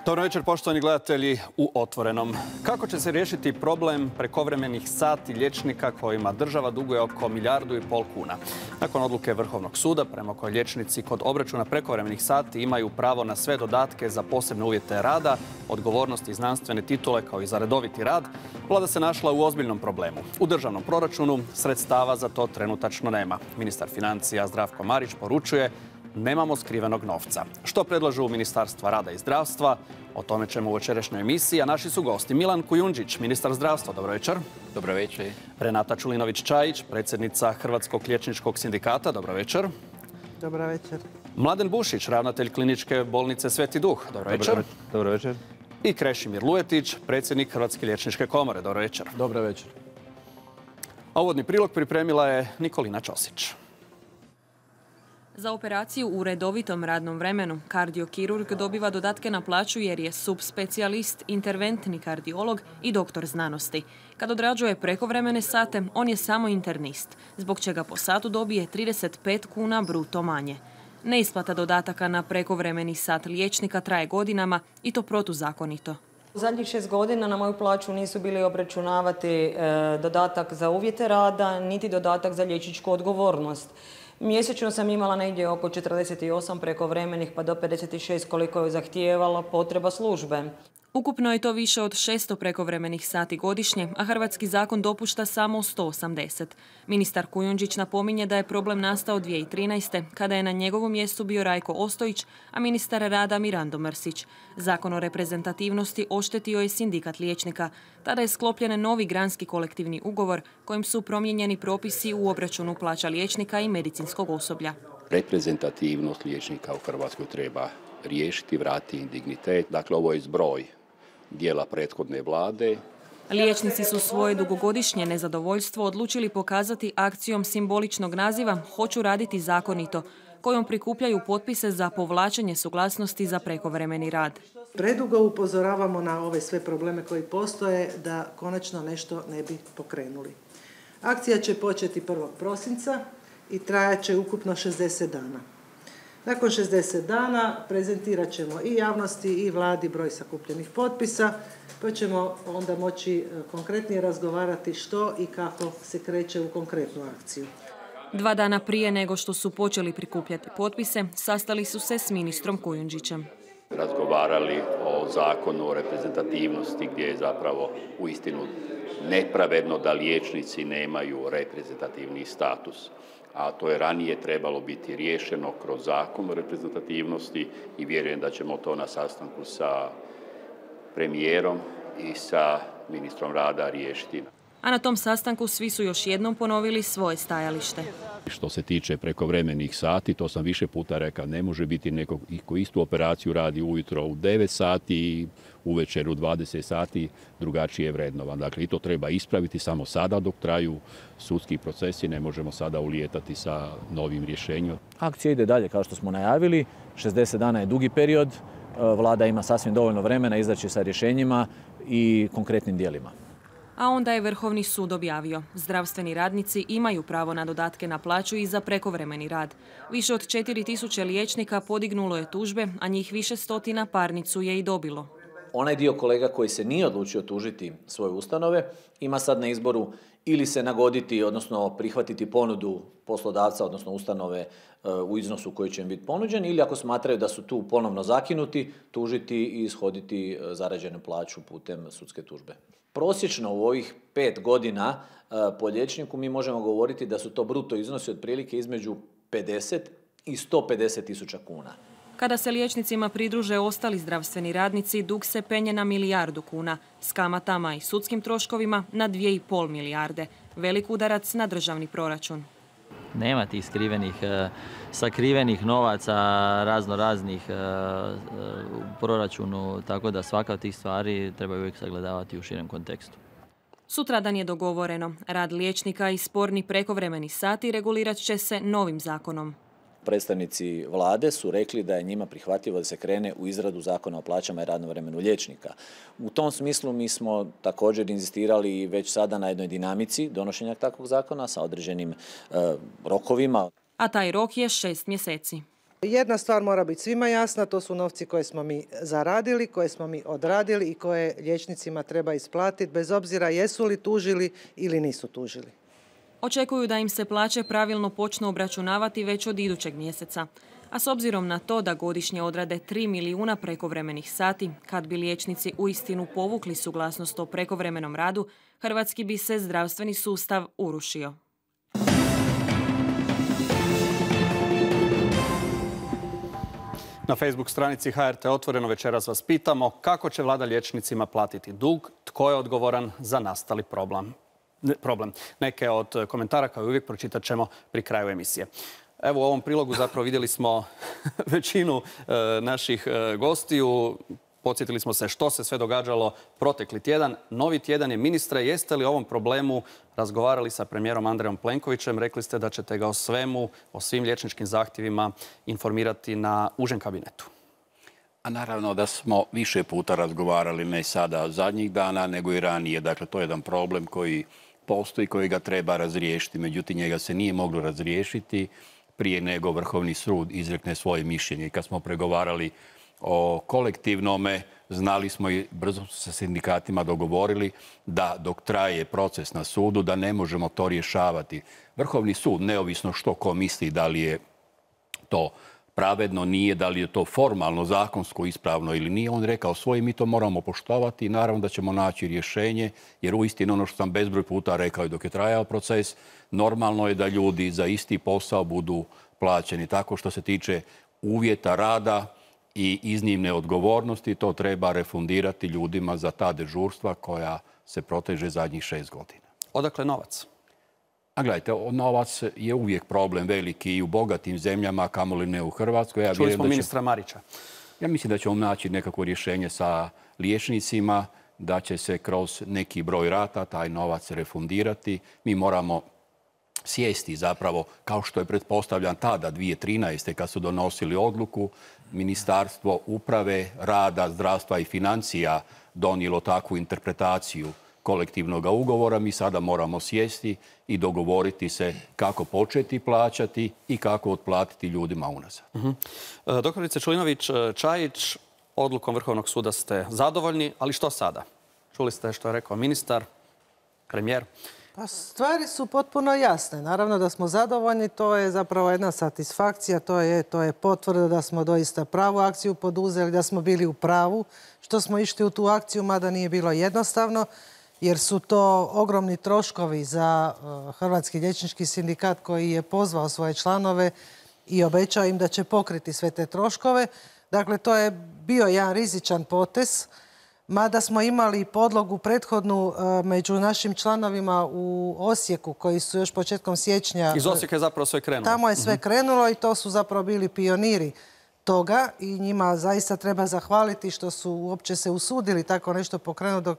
Dobro večer, poštovani gledatelji u Otvorenom. Kako će se riješiti problem prekovremenih sati liječnika kojima država duguje oko 1,5 milijardu kuna? Nakon odluke Vrhovnog suda, prema kojoj liječnici kod obračuna prekovremenih sati imaju pravo na sve dodatke za posebne uvjete rada, odgovornosti i znanstvene titule kao i za redoviti rad, vlada se našla u ozbiljnom problemu. U državnom proračunu sredstava za to trenutačno nema. Ministar financija Zdravko Marić poručuje: nemamo skrivenog novca. Što predlažu Ministarstva rada i zdravstva? O tome ćemo u večerašnjoj emisiji, a naši su gosti Milan Kujundžić, ministar zdravstva. Dobro večer. Dobro večer. Renata Čulinović-Čajić, predsjednica Hrvatskog liječničkog sindikata. Dobro večer. Dobro večer. Mladen Bušić, ravnatelj kliničke bolnice Sveti Duh. Dobro večer. Dobro večer. I Krešimir Lujetić, predsjednik Hrvatske liječničke komore. Dobro večer. Dobro večer. A uvodni prilog pripremila je Nikolina Ćosić. Za operaciju u redovitom radnom vremenu kardiokirurg dobiva dodatke na plaću jer je subspecijalist, interventni kardiolog i doktor znanosti. Kad odrađuje prekovremene sate, on je samo internist, zbog čega po satu dobije 35 kuna bruto manje. Neisplata dodataka na prekovremeni sat liječnika traje godinama i to protuzakonito. U zadnjih 6 godina na moju plaću nisu bili obračunavati dodatak za uvjete rada, niti dodatak za liječničku odgovornost. Mjesečno sam imala negdje oko 48 prekovremenih pa do 56 koliko je zahtijevala potreba službe. Ukupno je to više od 600 prekovremenih sati godišnje, a hrvatski zakon dopušta samo 180. Ministar Kujundžić napominje da je problem nastao 2013. kada je na njegovom mjestu bio Rajko Ostojić, a ministar rada Mirando Mrsić. Zakon o reprezentativnosti oštetio je sindikat liječnika. Tada je sklopljen novi granski kolektivni ugovor kojim su promijenjeni propisi u obračunu plaća liječnika i medicinskog osoblja. Reprezentativnost liječnika u Hrvatskoj treba riješiti, vratiti dignitet. Dakle, ovo je zbroj dijela prethodne vlade. Liječnici su svoje dugogodišnje nezadovoljstvo odlučili pokazati akcijom simboličnog naziva "Hoću raditi zakonito", kojom prikupljaju potpise za povlačenje suglasnosti za prekovremeni rad. Predugo upozoravamo na ove sve probleme koji postoje da konačno nešto ne bi pokrenuli. Akcija će početi 1. prosinca i trajat će ukupno 60 dana. Nakon 60 dana prezentirat ćemo i javnosti i vladi broj sakupljenih potpisa, pa ćemo onda moći konkretnije razgovarati što i kako se kreće u konkretnu akciju. 2 dana prije nego što su počeli prikupljati potpise, sastali su se s ministrom Kujundžićem. Razgovarali o zakonu o reprezentativnosti gdje je zapravo uistinu nepravedno da liječnici nemaju reprezentativni status. A to je ranije trebalo biti riješeno kroz zakon o reprezentativnosti i vjerujem da ćemo to na sastanku sa premijerom i sa ministrom rada riješiti. A na tom sastanku svi su još jednom ponovili svoje stajalište. Što se tiče prekovremenih sati, to sam više puta rekao, ne može biti neko ko istu operaciju radi ujutro u 9 sati i uvečer u 20 sati drugačije vrednovan. Dakle, i to treba ispraviti samo sada dok traju sudski procesi, ne možemo sada ulijetati sa novim rješenjem. Akcija ide dalje kao što smo najavili, 60 dana je dugi period, vlada ima sasvim dovoljno vremena izaći sa rješenjima i konkretnim djelima. A onda je Vrhovni sud objavio: zdravstveni radnici imaju pravo na dodatke na plaću i za prekovremeni rad. Više od 4000 liječnika podignulo je tužbe, a njih više stotina parnicu je i dobilo. Onaj dio kolega koji se nije odlučio tužiti svoje ustanove ima sad na izboru ili se nagoditi, odnosno prihvatiti ponudu poslodavca, odnosno ustanove u iznosu koji će im biti ponuđen, ili ako smatraju da su tu ponovno zakinuti, tužiti i ishoditi zarađenu plaću putem sudske tužbe. Prosječno u ovih 5 godina po liječniku mi možemo govoriti da su to bruto iznosi otprilike između 50 i 150 tisuća kuna. Kada se liječnicima pridruže ostali zdravstveni radnici, dug se penje na 1 milijardu kuna, s kamatama i sudskim troškovima na 2,5 milijarde. Velik udarac na državni proračun. Nema tih sakrivenih novaca raznih u proračunu, tako da svaka od tih stvari treba uvijek sagledavati u širem kontekstu. Sutradan je dogovoreno. Rad liječnika i sporni prekovremeni sati regulirat će se novim zakonom. Predstavnici vlade su rekli da je njima prihvatljivo da se krene u izradu zakona o plaćama i radnom vremenu liječnika. U tom smislu mi smo također inzistirali već sada na jednoj dinamici donošenja takvog zakona sa određenim rokovima. A taj rok je 6 mjeseci. Jedna stvar mora biti svima jasna, to su novci koje smo mi zaradili, koje smo mi odradili i koje liječnicima treba isplatiti, bez obzira jesu li tužili ili nisu tužili. Očekuju da im se plaće pravilno počnu obračunavati već od idućeg mjeseca. A s obzirom na to da godišnje odrade 3 milijuna prekovremenih sati, kad bi liječnici uistinu povukli suglasnost o prekovremenom radu, hrvatski bi se zdravstveni sustav urušio. Na Facebook stranici HRT Otvoreno večeras vas pitamo kako će vlada liječnicima platiti dug, tko je odgovoran za nastali problem. Neke od komentara, kao i uvijek, pročitat ćemo pri kraju emisije. Evo, u ovom prilogu zapravo vidjeli smo većinu naših gostiju. Podsjetili smo se što se sve događalo protekli tjedan. Novi tjedan je. Ministre, jeste li o ovom problemu razgovarali sa premijerom Andrejom Plenkovićem? Rekli ste da ćete ga o svim liječničkim zahtjevima informirati na užem kabinetu. A naravno da smo više puta razgovarali, ne sada zadnjih dana, nego i ranije. Dakle, to je jedan problem koji postoji, koji ga treba razriješiti. Međutim, njega se nije moglo razriješiti prije nego Vrhovni sud izrekne svoje mišljenje. I kad smo pregovarali o kolektivnome, znali smo i brzo sa sindikatima dogovorili da dok traje proces na sudu, da ne možemo to rješavati. Vrhovni sud, neovisno što ko misli da li je to pravedno, nije, da li je to formalno, zakonsko, ispravno ili nije, on rekao svoje, mi to moramo poštovati i naravno da ćemo naći rješenje, jer uistinu ono što sam bezbroj puta rekao i dok je trajao proces, normalno je da ljudi za isti posao budu plaćeni. Tako što se tiče uvjeta rada i iznimne odgovornosti, to treba refundirati ljudima za ta dežurstva koja se proteže zadnjih 6 godina. Odakle novac? A gledajte, novac je uvijek problem veliki i u bogatim zemljama, kamoli ne u Hrvatskoj. Čuli smo ministra Marića. Ja mislim da ćemo naći nekako rješenje sa liječnicima, da će se kroz neki broj rata taj novac refundirati. Mi moramo sjesti zapravo, kao što je pretpostavljan tada 2013. kad su donosili odluku, Ministarstvo uprave, rada, zdravstva i financija donijelo takvu interpretaciju kolektivnog ugovora. Mi sada moramo sjesti i dogovoriti se kako početi plaćati i kako otplatiti ljudima unazad. Doktorice Čulinović-Čajić, odlukom Vrhovnog suda ste zadovoljni, ali što sada? Čuli ste što je rekao ministar, premijer. Pa stvari su potpuno jasne. Naravno da smo zadovoljni, to je zapravo jedna satisfakcija, to je potvrda da smo doista pravu akciju poduzeli, da smo bili u pravu, što smo išli u tu akciju, mada nije bilo jednostavno, jer su to ogromni troškovi za Hrvatski liječnički sindikat koji je pozvao svoje članove i obećao im da će pokriti sve te troškove. Dakle, to je bio jedan rizičan potez, mada smo imali podlogu prethodnu među našim članovima u Osijeku, koji su još početkom siječnja... Iz Osijeka je zapravo sve krenulo. Tamo je sve krenulo i to su zapravo bili pioniri toga i njima zaista treba zahvaliti što su uopće se usudili tako nešto pokrenuti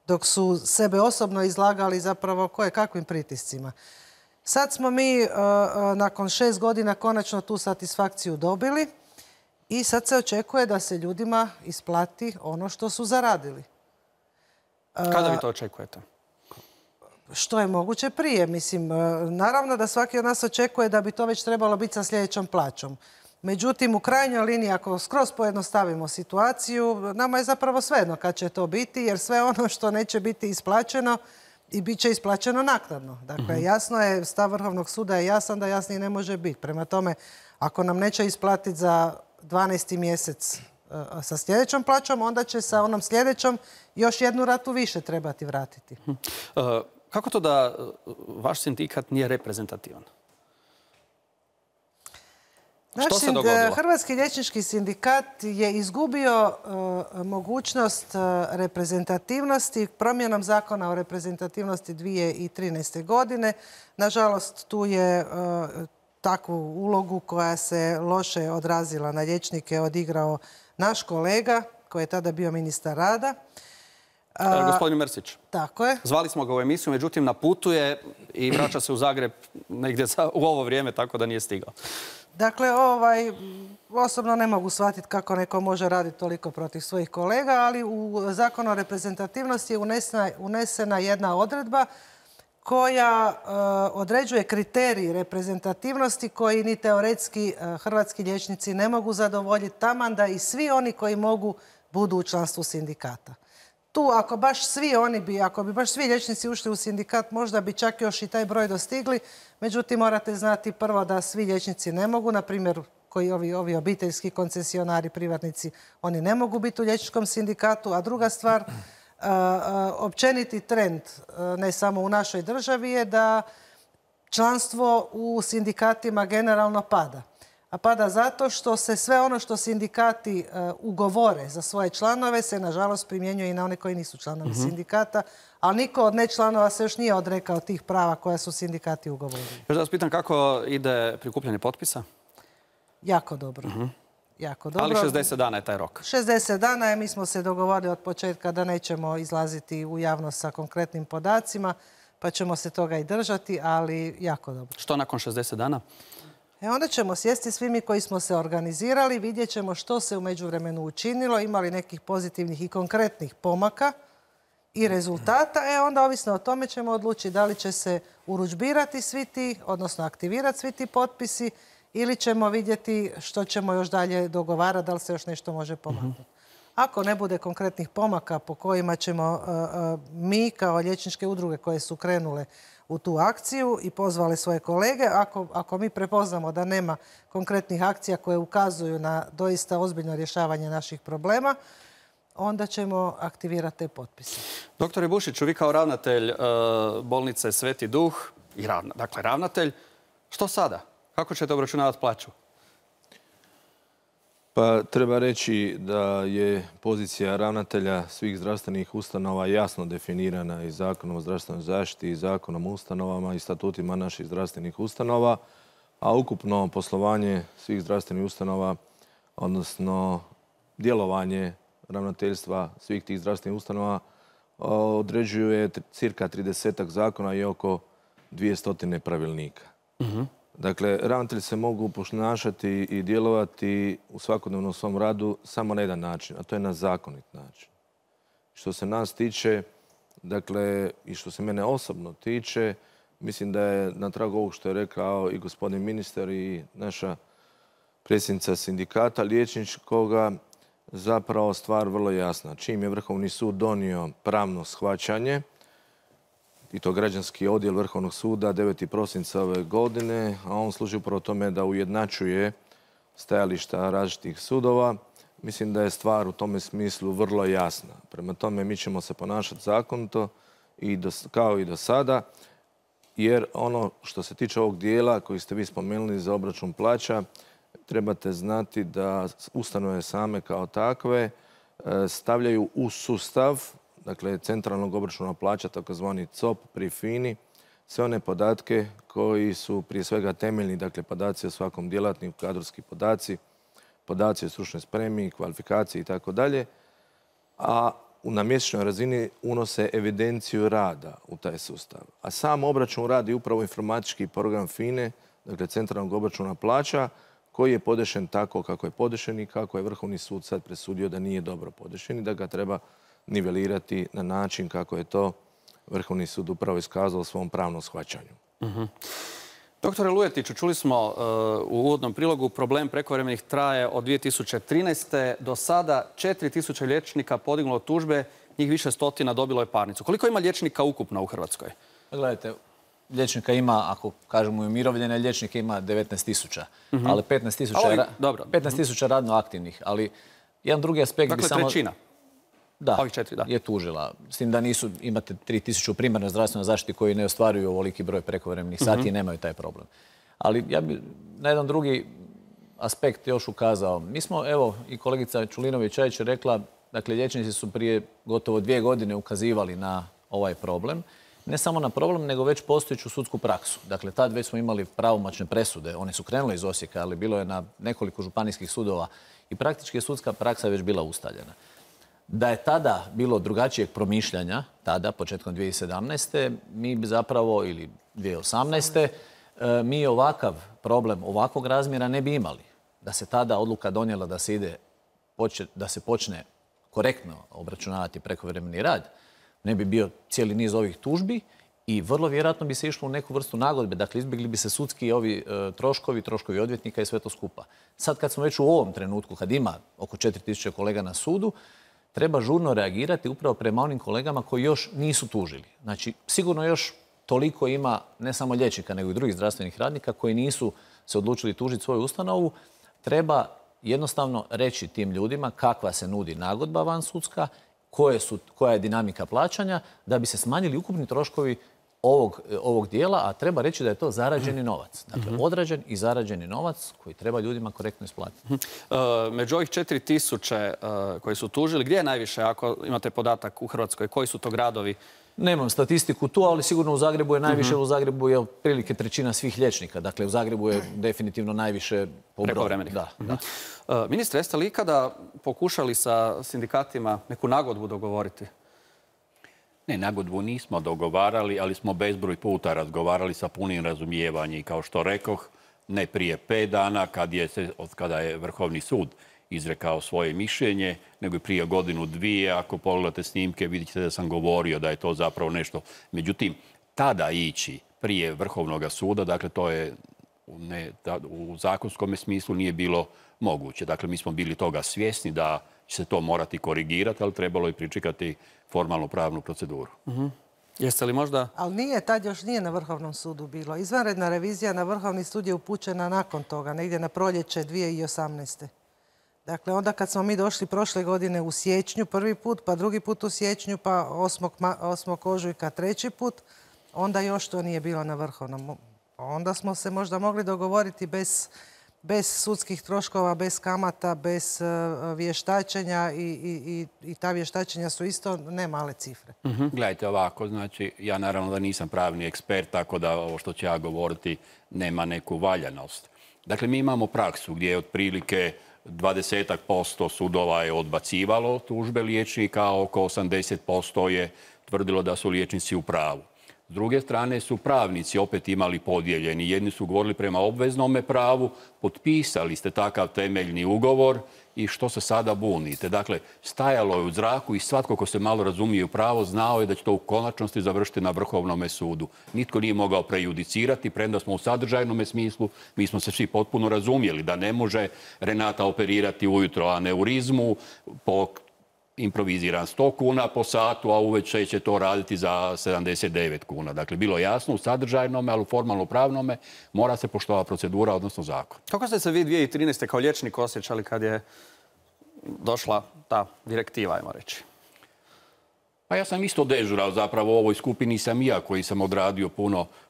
dok su sebe osobno izlagali zapravo kakvim pritiscima. Sad smo mi nakon 6 godina konačno tu satisfakciju dobili i sad se očekuje da se ljudima isplati ono što su zaradili. Kada vi to očekujete? Što je moguće prije. Mislim, naravno da svaki od nas očekuje da bi to već trebalo biti sa sljedećom plaćom. Međutim, u krajnjoj liniji, ako skroz pojednostavimo situaciju, nama je zapravo svejedno kad će to biti, jer sve ono što neće biti isplaćeno i bit će isplaćeno naknadno. Dakle, jasno je, stav Vrhovnog suda je jasan da jasniji ne može biti. Prema tome, ako nam neće isplatiti za 12. mjesec sa sljedećom plaćom, onda će sa onom sljedećom još jednu ratu više trebati vratiti. Kako to da vaš sindikat nije reprezentativan? Hrvatski liječnički sindikat je izgubio mogućnost reprezentativnosti promjenom zakona o reprezentativnosti 2013. godine. Nažalost, tu je takvu ulogu koja se loše odrazila na liječnike odigrao naš kolega koji je tada bio ministar rada. Gospodin Mrsić. Tako je. Zvali smo ga u emisiju, međutim na putu je i vraća se u Zagreb negdje u ovo vrijeme, tako da nije stigao. Dakle, osobno ne mogu shvatiti kako neko može raditi toliko protiv svojih kolega, ali u Zakonu o reprezentativnosti je unesena jedna odredba koja određuje kriterij reprezentativnosti koji ni teoretski hrvatski liječnici ne mogu zadovoljiti, taman da i svi oni koji mogu budu u članstvu sindikata. Tu ako bi baš svi liječnici ušli u sindikat, možda bi čak još i taj broj dostigli. Međutim, morate znati prvo da svi liječnici ne mogu, na primjer koji ovi obiteljski koncesionari, privatnici, oni ne mogu biti u liječničkom sindikatu. A druga stvar, općeniti trend, ne samo u našoj državi, je da članstvo u sindikatima generalno pada. A pada zato što se sve ono što sindikati ugovore za svoje članove se, nažalost, primjenjuje i na one koji nisu članovi sindikata, ali niko od nečlanova se još nije odrekao tih prava koja su sindikati ugovorili. Još da vas pitam kako ide prikupljanje potpisa? Jako dobro. Jako dobro. Ali 60 dana je taj rok. 60 dana je, mi smo se dogovorili od početka da nećemo izlaziti u javnost sa konkretnim podacima, pa ćemo se toga i držati, ali jako dobro. Što nakon 60 dana? Onda ćemo sjesti svi mi koji smo se organizirali, vidjet ćemo što se u međuvremenu učinilo, imali nekih pozitivnih i konkretnih pomaka i rezultata. Onda ovisno o tome ćemo odlučiti da li će se urudžbirati svi ti, odnosno aktivirati svi ti potpisi, ili ćemo vidjeti što ćemo još dalje dogovarati, da li se još nešto može pomaknuti. Ako ne bude konkretnih pomaka po kojima ćemo mi kao liječničke udruge koje su krenule u tu akciju i pozvali svoje kolege, ako mi prepoznamo da nema konkretnih akcija koje ukazuju na doista ozbiljno rješavanje naših problema, onda ćemo aktivirati te potpise. Doktore Bušiću, vi kao ravnatelj bolnice Sveti Duh, dakle ravnatelj, što sada? Kako ćete obračunavati plaću? Pa treba reći da je pozicija ravnatelja svih zdravstvenih ustanova jasno definirana i Zakonom o zdravstvenoj zaštiti i Zakonom o ustanovama i statutima naših zdravstvenih ustanova, a ukupno poslovanje svih zdravstvenih ustanova, odnosno djelovanje ravnateljstva svih tih zdravstvenih ustanova određuje cirka 30 zakona i oko 200 pravilnika. Dakle, ravnatelji se mogu ponašati i djelovati u svakodnevnom svom radu samo na jedan način, a to je na zakonit način. Što se nas tiče, dakle, i što se mene osobno tiče, mislim da je na tragu ovog što je rekao i gospodin ministar i naša predsjednica sindikata liječničkoga, zapravo stvar vrlo jasna. Čim je Vrhovni sud donio pravno shvaćanje, i to građanski odjel Vrhovnog suda 9. prosinca ove godine, a on služi upravo tome da ujednačuje stajališta različitih sudova. Mislim da je stvar u tome smislu vrlo jasna. Prema tome mi ćemo se ponašati zakonito kao i do sada, jer ono što se tiče ovog dijela koji ste vi spomenuli za obračun plaća, trebate znati da ustanove same kao takve stavljaju u sustav, dakle centralnog obračuna plaća, takozvani COP pri FINA-i, sve one podatke koji su prije svega temeljni, dakle podaci o svakom djelatniku, kadrovski podaci, podaci o stručnoj spremi, kvalifikaciji itd. A na mjesečnoj razini unose evidenciju rada u taj sustav. A sam obračun radi upravo informatički program FINA-e, dakle centralnog obračuna plaća, koji je podešen tako kako je podešen i kako je Vrhovni sud sad presudio da nije dobro podešen i da ga treba nivelirati na način kako je to Vrhovni sud upravo iskazao u svom pravnom shvaćanju. Doktore Lujetiću, čuli smo u uvodnom prilogu, problem prekovremenih traje od 2013. Do sada 4000 liječnika podignulo tužbe, njih više stotina dobilo je parnicu. Koliko ima liječnika ukupno u Hrvatskoj? Gledajte, liječnika ima, ako kažemo i umirovljene, liječnika ima 19 000, ali 15 000 radno aktivnih. Ali jedan drugi aspekt bi samo... Dakle, trećina? Da, je tužila. S tim da imate 3000 u primarnoj zdravstvenoj zaštiti koji ne ostvaruju ovoliki broj prekovremenih sati i nemaju taj problem. Ali ja bi na jedan drugi aspekt još ukazao. Mi smo, evo, i kolegica Čulinović-Čajić je rekla, dakle, liječnici su prije gotovo 2 godine ukazivali na ovaj problem. Ne samo na problem, nego već postojeću sudsku praksu. Dakle, tad već smo imali pravomoćne presude. One su krenule iz Osijeka, ali bilo je na nekoliko županijskih sudova i praktički je sudska praksa već bila ustaljena. Da je tada bilo drugačijeg promišljanja, tada, početkom 2017. mi bi zapravo, ili 2018. mi ovakav problem, ovakvog razmjera ne bi imali. Da se tada odluka donijela da se počne korektno obračunavati prekovremeni rad, ne bi bio cijeli niz ovih tužbi i vrlo vjerojatno bi se išlo u neku vrstu nagodbe. Dakle, izbjegli bi se sudski ovi troškovi odvjetnika i sve to skupa. Sad kad smo već u ovom trenutku, kad ima oko 4000 kolega na sudu, treba žurno reagirati upravo prema onim kolegama koji još nisu tužili. Znači, sigurno još toliko ima ne samo liječnika, nego i drugih zdravstvenih radnika koji nisu se odlučili tužiti svoju ustanovu. Treba jednostavno reći tim ljudima kakva se nudi nagodba vansudska, koja je dinamika plaćanja, da bi se smanjili ukupni troškovi ovog dijela, a treba reći da je to zarađeni novac. Dakle, odrađen i zarađeni novac koji treba ljudima korektno isplatiti. Među ovih 4000 koji su tužili, gdje je najviše, ako imate podatak u Hrvatskoj, koji su to gradovi? Nemam statistiku tu, ali sigurno u Zagrebu je najviše. U Zagrebu je otprilike 1/3 svih liječnika. Dakle, u Zagrebu je definitivno najviše po broju. Prekovremenih. Ministre, jeste li ikada pokušali sa sindikatima neku nagodbu dogovoriti? Ne, nagodbu nismo dogovarali, ali smo bezbroj puta razgovarali sa punim razumijevanjem. I kao što rekoh, ne prije 5 dana, kada je Vrhovni sud izrekao svoje mišljenje, nego i prije 1-2. Ako pogledate snimke, vidite da sam govorio da je to zapravo nešto. Međutim, tada ići prije Vrhovnog suda, dakle, to je u zakonskom smislu nije bilo moguće. Dakle, mi smo bili toga svjesni da će se to morati korigirati, ali trebalo je pričekati formalnu pravnu proceduru. Jeste li možda... Ali nije, tad još nije na Vrhovnom sudu bilo. Izvanredna revizija na Vrhovni sud je upućena nakon toga, negdje na proljeće 2018. Dakle, onda kad smo mi došli prošle godine u siječnju prvi put, pa drugi put u siječnju, pa 8. ožujka 3. put, onda još to nije bilo na Vrhovnom. Onda smo se možda mogli dogovoriti bez sudskih troškova, bez kamata, bez vještačenja i ta vještačenja su isto ne male cifre. Gledajte ovako, znači ja naravno da nisam pravni ekspert, tako da ovo što ću ja govoriti nema neku valjanost. Dakle, mi imamo praksu gdje je otprilike 20% sudova je odbacivalo tužbe liječnika, a oko 80% je tvrdilo da su liječnici u pravu. S druge strane su pravnici opet imali podijeljeni. Jedni su govorili prema obveznome pravu, potpisali ste takav temeljni ugovor i što se sada bunite. Dakle, stajalo je u zraku i svatko ko se malo razumije u pravo znao je da će to u konačnosti završiti na Vrhovnom sudu. Nitko nije mogao prejudicirati, premda smo u sadržajnom smislu, mi smo se svi potpuno razumjeli da ne može Renata operirati ujutro aneurizmu po improviziran 100 kuna po satu, a uveče će to raditi za 79 kuna. Dakle, bilo jasno u sadržajnome, ali u formalno-pravnome mora se poštovati procedura, odnosno zakon. Kako ste se vi 2013. kao liječnik osjećali kad je došla ta direktiva, ajmo reći? Pa ja sam isto dežurao, zapravo u ovoj skupini sam ja koji sam odradio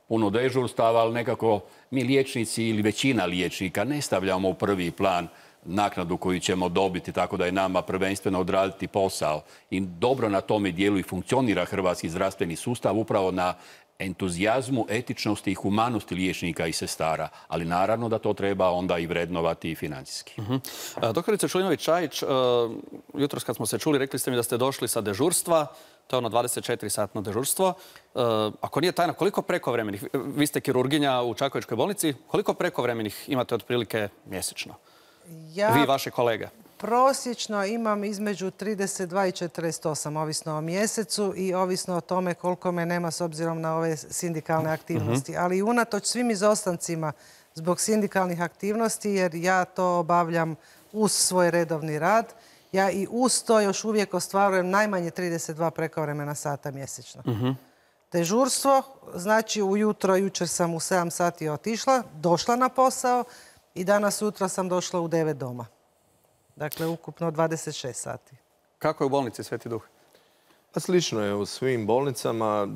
puno dežurstava, ali nekako mi liječnici ili većina liječnika ne stavljamo u prvi plan naknadu koju ćemo dobiti, tako da je nama prvenstveno odraditi posao. I dobro na tome dijelu i funkcionira hrvatski zdravstveni sustav upravo na entuzijazmu, etičnosti i humanosti liječnika i sestara. Ali naravno da to treba onda i vrednovati i financijski. Doktorice Čulinović-Čajić, jutros kad smo se čuli, rekli ste mi da ste došli sa dežurstva, to je ono 24-satno dežurstvo. Ako nije tajna, koliko prekovremenih, vi ste kirurginja u Čakovečkoj bolnici, koliko prekovremenih imate otprilike mjesečno? Vi i vaše kolege? Prosječno imam između 32 i 48, ovisno o mjesecu i ovisno o tome koliko me nema s obzirom na ove sindikalne aktivnosti. Ali unatoč svim izostancima zbog sindikalnih aktivnosti, jer ja to obavljam uz svoj redovni rad, ja i uz to još uvijek ostvarujem najmanje 32 prekovremena sata mjesečno. Dežurstvo, znači jučer sam u 7 sati otišla, došla na posao i danas sutra sam došla u 9 doma. Dakle, ukupno 26 sati. Kako je u bolnici Sveti Duh? Pa slično je u svim bolnicama.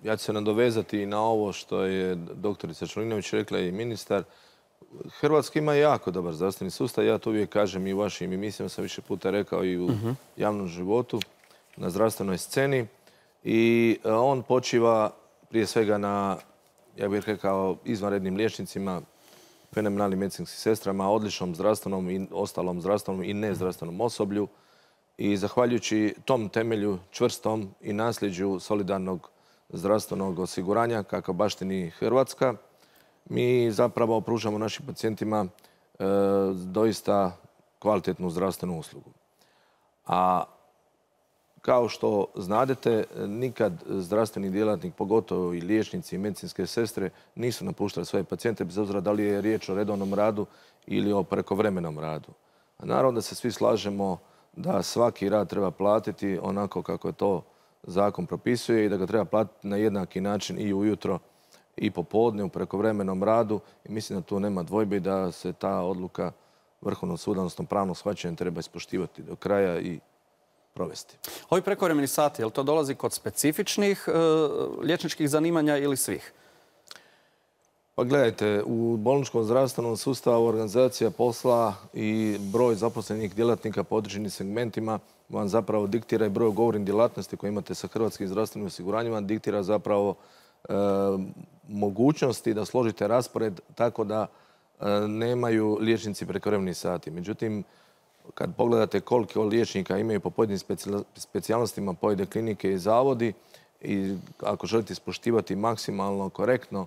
Ja ću se nadovezati na ovo što je doktorica Čulinović rekla i ministar. Hrvatska ima jako dobar zdravstveni sustav. Ja to uvijek kažem i u vašim emisijama, sam više puta rekao i u javnom životu, na zdravstvenoj sceni. I on počiva prije svega na, ja bih rekao, izvanrednim liječnicima, fenomenalnim medicinskim sestrama, odličnom zdravstvenom i ostalom zdravstvenom i nezdravstvenom osoblju. I zahvaljujući tom temelju čvrstom i nasljeđu solidarnog zdravstvenog osiguranja, kakav baštini Hrvatska, mi zapravo pružamo našim pacijentima doista kvalitetnu zdravstvenu uslugu. A kao što znadete, nikad zdravstveni djelatnik, pogotovo i liječnici i medicinske sestre, nisu napuštali svoje pacijente, bez obzira da li je riječ o redovnom radu ili o prekovremenom radu. A naravno da se svi slažemo da svaki rad treba platiti onako kako je to zakon propisuje i da ga treba platiti na jednaki način i ujutro i popodne u prekovremenom radu. I mislim da tu nema dvojbe da se ta odluka Vrhovnog suda, odnosno pravnog shvaćanja, treba ispoštivati do kraja i provesti. Ovi prekovremeni sati, je li to dolazi kod specifičnih liječničkih zanimanja ili svih? Pa gledajte, u bolničkom zdravstvenom sustavu organizacija posla i broj zaposlenih djelatnika po određenim segmentima vam zapravo diktira i broj ugovorenih djelatnosti koje imate sa Hrvatskim zdravstvenim osiguranjima, diktira zapravo mogućnosti da složite raspored tako da nemaju liječnici prekovremeni sati. Međutim, kad pogledate koliko liječnika imaju po pojedinim specijalnostima pojedine klinike i zavodi i ako želite ispoštivati maksimalno korektno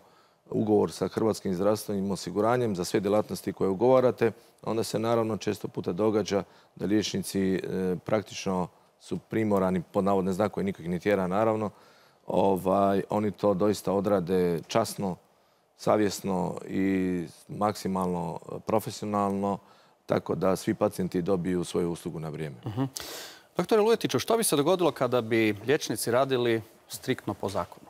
ugovor sa Hrvatskim zdravstvenim osiguranjem za sve djelatnosti koje ugovarate, onda se naravno često puta događa da liječnici praktično su primorani, pod navodne znakove, nikog ih ne tjera naravno, oni to doista odrade časno, savjesno i maksimalno profesionalno, tako da svi pacijenti dobiju svoju uslugu na vrijeme. Doktore Lujetiću, što bi se dogodilo kada bi liječnici radili striktno po zakonu?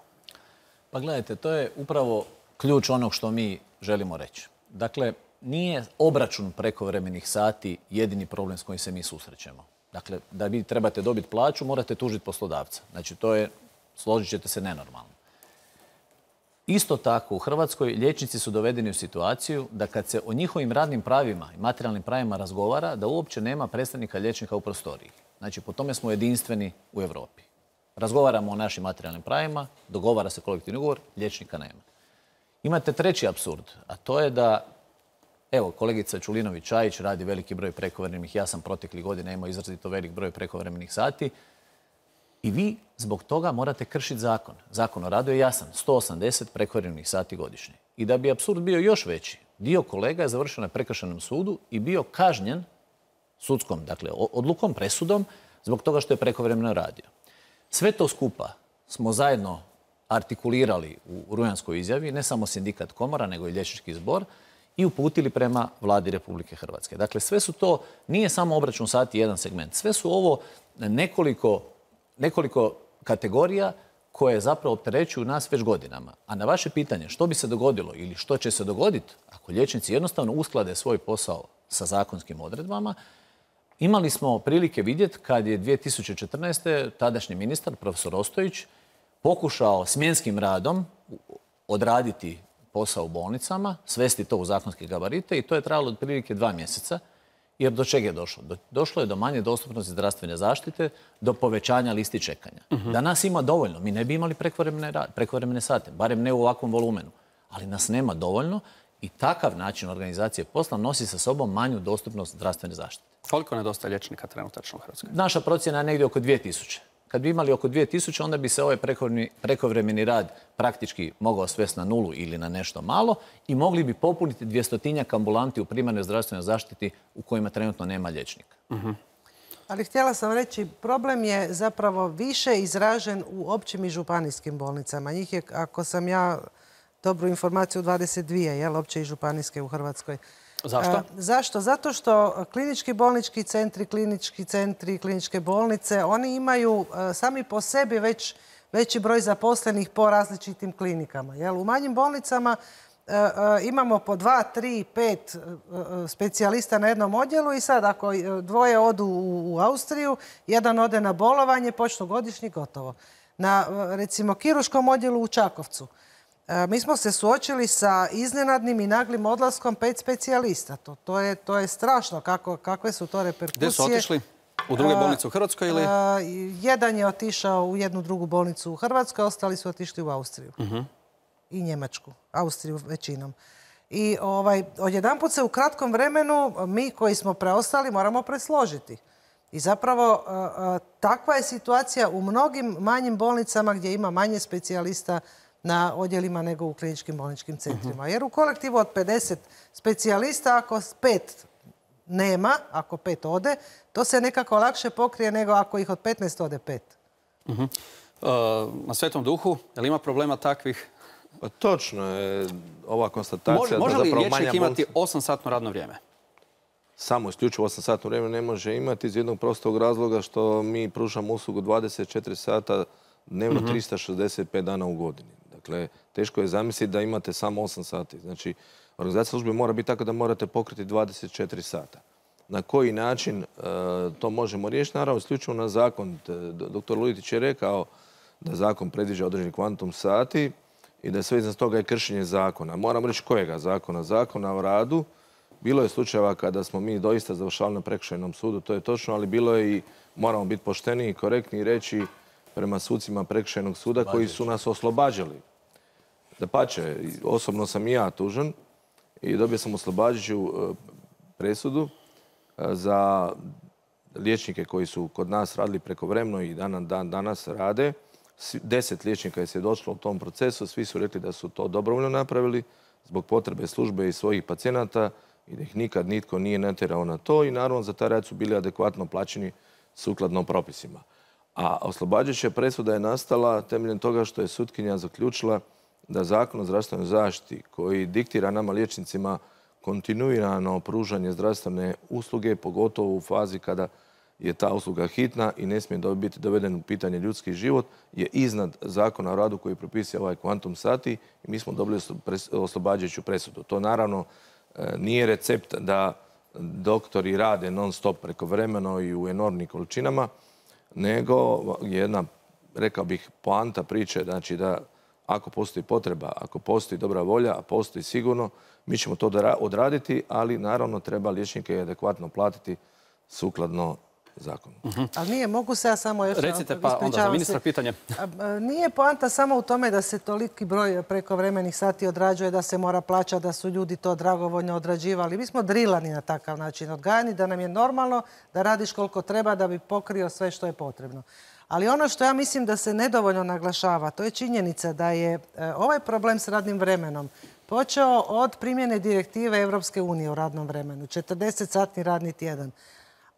Pa gledajte, to je upravo ključ onog što mi želimo reći. Dakle, nije obračun prekovremenih sati jedini problem s kojim se mi susrećemo. Dakle, da vi trebate dobiti plaću, morate tužiti poslodavca. Znači, to je, složit ćete se, nenormalno. Isto tako, u Hrvatskoj liječnici su dovedeni u situaciju da kad se o njihovim radnim pravima i materijalnim pravima razgovara, da uopće nema predstavnika liječnika u prostoriji. Znači, po tome smo jedinstveni u Europi. Razgovaramo o našim materijalnim pravima, dogovara se kolektivni ugovor, liječnika nema. Imate treći apsurd, a to je da, evo, kolegica Čulinović-Čajić radi veliki broj prekovremenih, ja sam proteklih godina imao izrazito velik broj prekovremenih sati i vi zbog toga morate kršiti zakon. Zakon o radu je jasan, 180 prekovremenih sati godišnje. I da bi apsurd bio još veći, dio kolega je završio na prekršajnom sudu i bio kažnjen sudskom, dakle, odlukom, presudom, zbog toga što je prekovremeno radio. Sve to skupa smo zajedno artikulirali u rujanskoj izjavi, ne samo sindikat komora, nego i liječnički zbor, i uputili prema Vladi Republike Hrvatske. Dakle, sve su to, nije samo obračun sati jedan segment, sve su ovo nekoliko kategorija koje zapravo opterećuju nas već godinama. A na vaše pitanje što bi se dogodilo ili što će se dogoditi ako liječnici jednostavno usklade svoj posao sa zakonskim odredbama, imali smo prilike vidjeti kad je 2014. tadašnji ministar, profesor Ostojić, pokušao smjenskim radom odraditi posao u bolnicama, svesti to u zakonske gabarite i to je trajalo otprilike 2 mjeseca. Jer do čega je došlo? Došlo je do manje dostupnosti zdravstvene zaštite, do povećanja listi čekanja. Da nas ima dovoljno, mi ne bi imali prekovremene sate, barem ne u ovakvom volumenu. Ali nas nema dovoljno i takav način organizacije posla nosi sa sobom manju dostupnost zdravstvene zaštite. Koliko nedostaje liječnika trenutačno u Hrvatskoj? Naša procjena je negdje oko 2000. Kad bi imali oko 2000, onda bi se ovaj prekovremeni rad praktički mogao svesti na nulu ili na nešto malo i mogli bi popuniti 200-tinjak ambulanti u primarnoj zdravstvenoj zaštiti u kojima trenutno nema liječnika. Ali htjela sam reći, problem je zapravo više izražen u općim i županijskim bolnicama. Njih je, ako sam ja dobru informaciju, 22, opće i županijske u Hrvatskoj. Zašto? Zašto? Zato što klinički bolnički centri, kliničke bolnice, oni imaju sami po sebi veći broj zaposlenih po različitim klinikama. U manjim bolnicama imamo po 2, 3, 5 specijalista na jednom odjelu i sad ako dvoje odu u Austriju, jedan ode na bolovanje, počnu godišnji, gotovo. Na, recimo, kirurškom odjelu u Čakovcu mi smo se suočili sa iznenadnim i naglim odlaskom 5 specijalista. To je strašno kakve su to reperkusije. Gdje su otišli? U druge bolnice u Hrvatskoj ili? Jedan je otišao u jednu drugu bolnicu u Hrvatskoj, ostali su otišli u Austriju. I Njemačku. Austriju većinom. I odjedanput se u kratkom vremenu mi koji smo preostali moramo presložiti. I zapravo takva je situacija u mnogim manjim bolnicama gdje ima manje specijalista na odjelima nego u kliničkim bolničkim centrima. Jer u kolektivu od 50 specijalista, ako 5 nema, ako 5 ode, to se nekako lakše pokrije nego ako ih od 15 ode 5. Na Svetom Duhu, je li ima problema takvih? Pa točno je ova konstatacija. Može li liječnik imati 8-satno radno vrijeme? Samo isključivo 8-satno vrijeme ne može imati iz jednog prostog razloga što mi pružamo uslugu 24 sata dnevno 365 dana u godini. Dakle, teško je zamisliti da imate samo 8 sati. Znači, organizacija službe mora biti tako da morate pokriti 24 sata. Na koji način to možemo riješiti? Naravno, isključivo na zakon. Dr. Lujitić je rekao da zakon predviđa određeni kvantum sati i da sve iznad toga je kršenje zakona. Moram reći kojega zakona? Zakona o radu. Bilo je slučajeva kada smo mi doista završavali na prekršajnom sudu, to je točno, ali bilo je i, moramo biti pošteni i korektni i reći prema sucima prekršajnog suda koji su nas oslobađali. Dapače, osobno sam i ja tužan i dobio sam oslobađajuću presudu za liječnike koji su kod nas radili prekovremeno i danas rade. 10 liječnika je svjedočilo u tom procesu, svi su rekli da su to dobrovoljno napravili zbog potrebe službe i svojih pacijenata i da ih nikad nitko nije natjerao na to i naravno za taj rad su bili adekvatno plaćeni sukladno propisima. A oslobađajuća presuda je nastala temeljem toga što je sutkinja zaključila da Zakon o zdravstvenoj zaštiti koji diktira nama liječnicima kontinuirano pružanje zdravstvene usluge, pogotovo u fazi kada je ta usluga hitna i ne smije biti doveden u pitanje ljudski život, je iznad Zakona o radu koji propisuje ovaj kvantum sati i mi smo dobili oslobađajuću presudu. To naravno nije recept da doktori rade non stop prekovremeno i u enormnim količinama, nego jedna, rekao bih, poanta priče, znači da ako postoji potreba, ako postoji dobra volja, a postoji sigurno, mi ćemo to odraditi, ali naravno treba liječnike adekvatno platiti sukladno zakonu. Ali nije, mogu se ja samo još... Recite pa onda za ministra pitanje. Nije poanta samo u tome da se toliki broj prekovremenih sati odrađuje, da se mora plaćati, da su ljudi to dragovoljno odrađivali. Mi smo drilani na takav način, odgajani, da nam je normalno da radiš koliko treba da bi pokrio sve što je potrebno. Ali ono što ja mislim da se nedovoljno naglašava, to je činjenica da je ovaj problem s radnim vremenom počeo od primjene direktive Europske unije u radnom vremenu, 40-satni radni tjedan.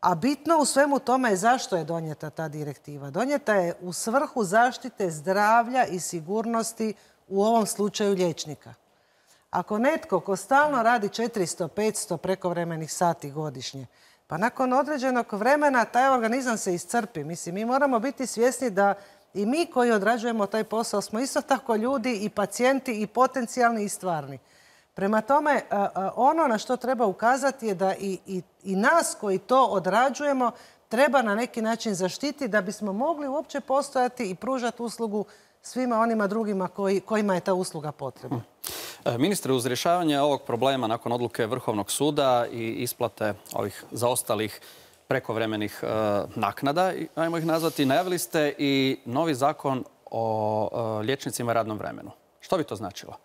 A bitno u svemu tome je zašto je donijeta ta direktiva. Donijeta je u svrhu zaštite zdravlja i sigurnosti u ovom slučaju liječnika. Ako netko ko stalno radi 400-500 prekovremenih sati godišnje, pa nakon određenog vremena taj organizam se iscrpi. Mislim, mi moramo biti svjesni da i mi koji odrađujemo taj posao smo isto tako ljudi i pacijenti i potencijalni i stvarni. Prema tome, ono na što treba ukazati je da i nas koji to odrađujemo treba na neki način zaštiti da bismo mogli uopće postojati i pružati uslugu svima onima drugima kojima je ta usluga potrebna. Ministre, uz rješavanje ovog problema nakon odluke Vrhovnog suda i isplate ovih zaostalih prekovremenih naknada, ajmo ih nazvati, najavili ste i novi zakon o liječnicima i radnom vremenu. Što bi to značilo?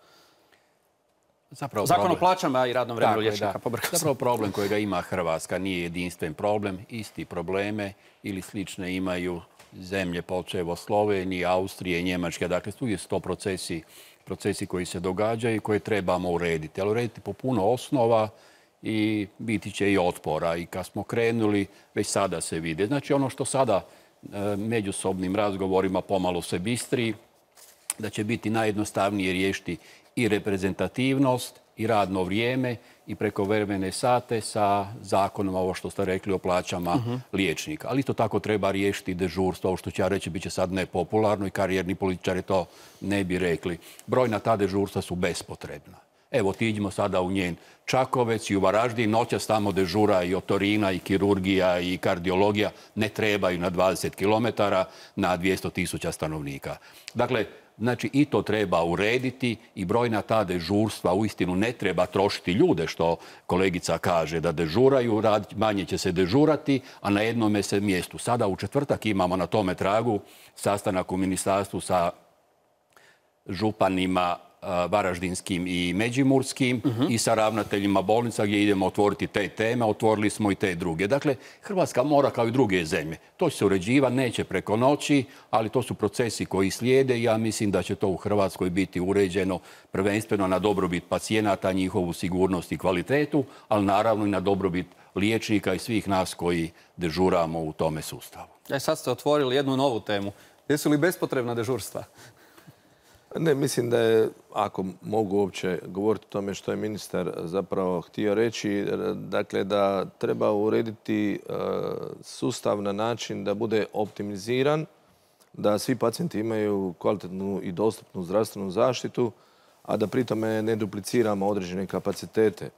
Zakon o plaćama i radnom vremenu liječnika. Zapravo problem kojega ima Hrvatska nije jedinstven problem. Isti probleme ili slične imaju zemlje počev od Slovenije, Austrije, Njemačke. Dakle, uvijek su to procesi koji se događaju i koje trebamo urediti. Ali urediti po puno osnova i biti će i otpora. I kad smo krenuli, već sada se vide. Znači, ono što sada međusobnim razgovorima pomalo se bistri, da će biti najjednostavnije riješiti i reprezentativnost i radno vrijeme i prekovremene sate sa zakonom, ovo što ste rekli, o plaćama liječnika. Ali to tako treba riješiti dežurstvo, ovo što ću ja reći, bit će sad nepopularno i karijerni političari to ne bi rekli. Brojna ta dežurstva su bespotrebna. Evo, otiđimo sada u njen Čakovec i u Varaždin, noćas tamo dežura i otorina i kirurgija i kardiologija ne trebaju na 20 km na 200.000 stanovnika. Dakle, znači i to treba urediti i brojna ta dežurstva uistinu ne treba trošiti ljude, što kolegica kaže, da dežuraju, manje će se dežurati, a na jednome se mjestu. Sada u četvrtak imamo na tome tragu sastanak u ministarstvu sa županima varaždinskim i međimurskim i sa ravnateljima bolnica gdje idemo otvoriti te teme, otvorili smo i te druge. Dakle, Hrvatska mora kao i druge zemlje. To će se uređivati, neće preko noći, ali to su procesi koji slijede i ja mislim da će to u Hrvatskoj biti uređeno prvenstveno na dobrobit pacijenata, njihovu sigurnost i kvalitetu, ali naravno i na dobrobit liječnika i svih nas koji dežuramo u tome sustavu. Sad ste otvorili jednu novu temu. Jesu li bespotrebna dežurstva? Ne, mislim da je, ako mogu uopće govoriti o tome što je ministar zapravo htio reći, dakle da treba urediti sustav na način da bude optimiziran, da svi pacijenti imaju kvalitetnu i dostupnu zdravstvenu zaštitu, a da pritome ne dupliciramo određene kapacitete.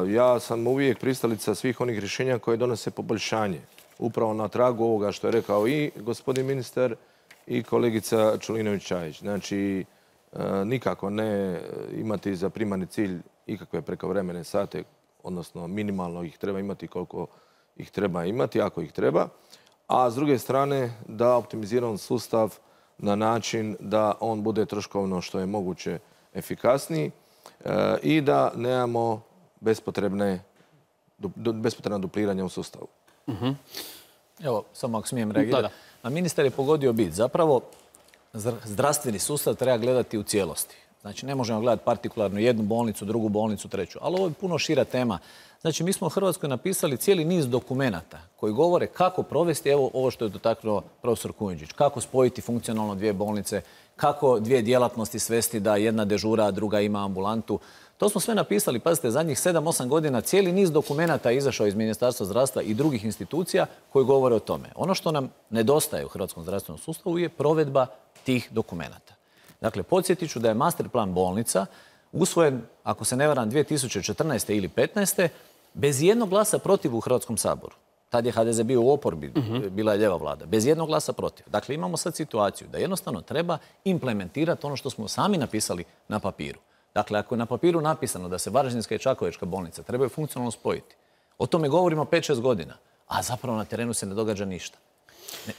Ja sam uvijek pristalica svih onih rješenja koje donose poboljšanje. Upravo na tragu ovoga što je rekao i gospodin ministar i kolegica Čulinović-Čajić. Znači, nikako ne imati za primarni cilj ikakve prekovremene sate, odnosno minimalno ih treba imati koliko ih treba imati, ako ih treba. A s druge strane, da optimiziramo sustav na način da on bude troškovno što je moguće efikasniji i da nemamo bespotrebna dupliranja u sustavu. Evo, samo ako smijem reagirati. A ministar je pogodio bit. Zapravo, zdravstveni sustav treba gledati u cijelosti. Znači, ne možemo gledati partikularno jednu bolnicu, drugu bolnicu, treću. Ali ovo je puno šira tema. Znači, mi smo u Hrvatskoj napisali cijeli niz dokumenata koji govore kako provesti, evo ovo što je dotaknuo profesor Kujundžić, kako spojiti funkcionalno dvije bolnice, kako dvije djelatnosti svesti da jedna dežura, a druga ima ambulantu. To smo sve napisali, pazite, zadnjih 7-8 godina cijeli niz dokumenata je izašao iz Ministarstva zdravstva i drugih institucija koji govore o tome. Ono što nam nedostaje u hrvatskom zdravstvenom sustavu je provedba tih dokumenata. Dakle, podsjetit ću da je master plan bolnica usvojen, ako se ne varam, 2014. ili 2015. bez jednog glasa protiv u Hrvatskom saboru. Tad je HDZ bio u oporbi, bila je lijeva vlada. Bez jednog glasa protiv. Dakle, imamo sad situaciju da jednostavno treba implementirati ono što smo sami napisali na papiru. Dakle, ako je na papiru napisano da se Varaždinska i Čakovečka bolnica trebaju funkcionalno spojiti, o tome govorimo 5-6 godina, a zapravo na terenu se ne događa ništa.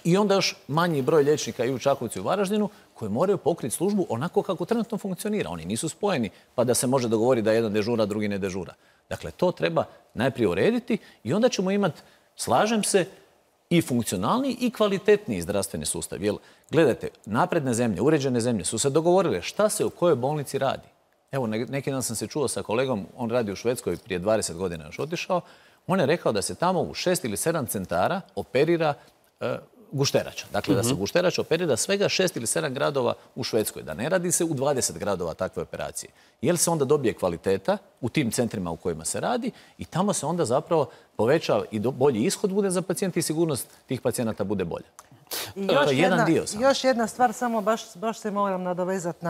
I onda još manji broj liječnika i u Čakovcu i u Varaždinu koji moraju pokriti službu onako kako trenutno funkcionira. Oni nisu spojeni pa da se može dogovoriti da jedan dežura, drugi ne dežura. Dakle, to treba najprije urediti i onda ćemo imati, slažem se, i funkcionalni i kvalitetniji zdravstveni sustav. Jer, gledajte, napredne zemlje, uređene zemlje su se dogovorile šta se u kojoj bolnici radi. Evo, neki dan sam se čuo sa kolegom, on radi u Švedskoj, prije 20 godina još otišao. On je rekao da se tamo u 6 ili 7 centara operira gušterača. Dakle, da se gušterač operira svega 6 ili 7 gradova u Švedskoj. Da ne radi se u 20 gradova takve operacije. Jer se onda dobije kvaliteta u tim centrima u kojima se radi i tamo se onda zapravo poveća i bolji ishod bude za pacijente i sigurnost tih pacijenata bude bolja. Još jedna stvar, samo baš se moram nadovezati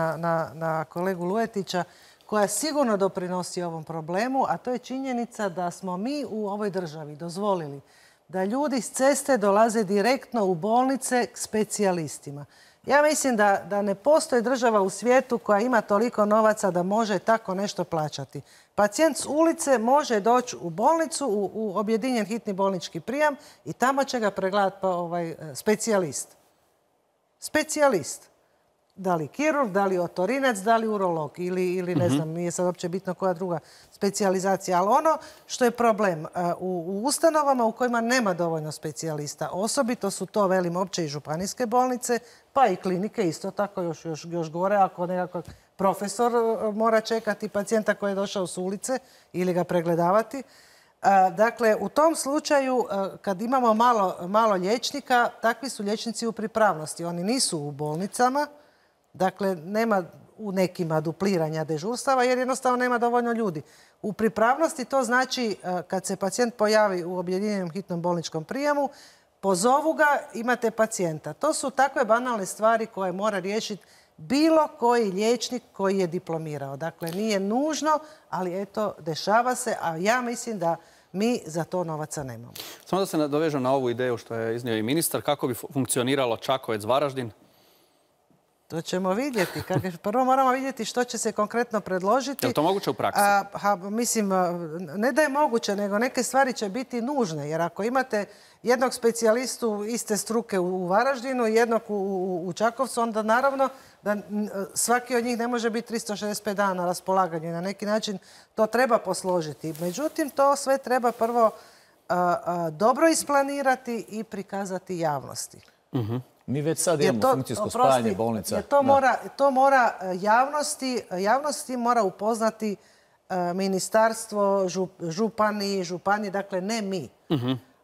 na kolegu Lujetića, koja sigurno doprinosi ovom problemu, a to je činjenica da smo mi u ovoj državi dozvolili da ljudi s ceste dolaze direktno u bolnice k specijalistima. Ja mislim da ne postoji država u svijetu koja ima toliko novaca da može tako nešto plaćati. Pacijent s ulice može doći u bolnicu, u objedinjen hitni bolnički prijam i tamo će ga pregledati specijalist. Specijalist. Da li kirurg, da li otorinac, da li urolog ili ne znam, nije sad uopće bitno koja druga specijalizacija. Ali ono što je problem u ustanovama u kojima nema dovoljno specijalista, osobito su to, velim, opće i županijske bolnice, pa i klinike isto tako još gore, ako nekako profesor mora čekati pacijenta koji je došao s ulice ili ga pregledavati. Dakle, u tom slučaju, kad imamo malo liječnika, takvi su liječnici u pripravnosti. Oni nisu u bolnicama. Dakle, nema u nekima dupliranja dežurstava jer jednostavno nema dovoljno ljudi. U pripravnosti to znači kad se pacijent pojavi u objedinjenom hitnom bolničkom prijemu, pozovu ga, imate pacijenta. To su takve banalne stvari koje mora riješiti bilo koji liječnik koji je diplomirao. Dakle, nije nužno, ali eto, dešava se, a ja mislim da mi za to novaca nemamo. Samo da se nadovežem na ovu ideju što je iznio i ministar, kako bi funkcioniralo Čakovec-Varaždin? To ćemo vidjeti. Prvo moramo vidjeti što će se konkretno predložiti. Je li to moguće u praksi? Mislim, ne da je moguće, nego neke stvari će biti nužne. Jer ako imate jednog specijalistu iste struke u Varaždinu i jednog u Čakovcu, onda naravno da svaki od njih ne može biti 365 dana na raspolaganju. Na neki način to treba posložiti. Međutim, to sve treba prvo dobro isplanirati i prikazati javnosti. Mi već sad imamo funkcijsko spajanje bolnica. To mora javnosti mora upoznati ministarstvo, župani, dakle ne mi.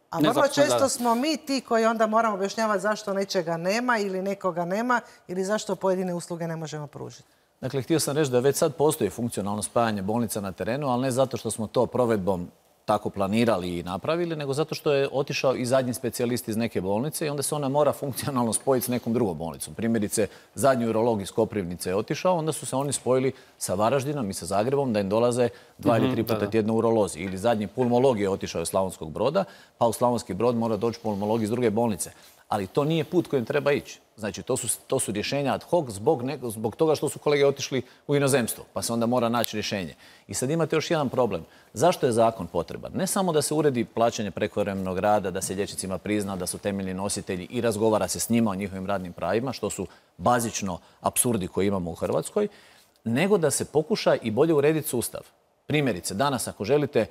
A vrlo često smo mi ti koji onda moramo objašnjavati zašto nečega nema ili nekoga nema ili zašto pojedine usluge ne možemo pružiti. Dakle, htio sam reći da već sad postoji funkcionalno spajanje bolnica na terenu, ali ne zato što smo to provedbom tako planirali i napravili, nego zato što je otišao i zadnji specijalist iz neke bolnice i onda se ona mora funkcionalno spojiti s nekom drugom bolnicom. Primjerice, zadnji urolog iz Koprivnice je otišao, onda su se oni spojili sa Varaždinom i sa Zagrebom da im dolaze 2 ili 3 puta tjedno urolozi. Ili zadnji pulmolog je otišao iz Slavonskog Broda, pa u Slavonski Brod mora doći pulmolog iz druge bolnice. Ali to nije put kojim treba ići. Znači, to su rješenja ad hoc zbog toga što su kolege otišli u inozemstvo, pa se onda mora naći rješenje. I sad imate još jedan problem. Zašto je zakon potreban? Ne samo da se uredi plaćanje prekovremenog rada, da se liječnicima prizna da su temeljni nositelji i razgovara se s njima o njihovim radnim pravima, što su bazično apsurdi koje imamo u Hrvatskoj, nego da se pokuša i bolje urediti sustav. Primjerice, danas ako želite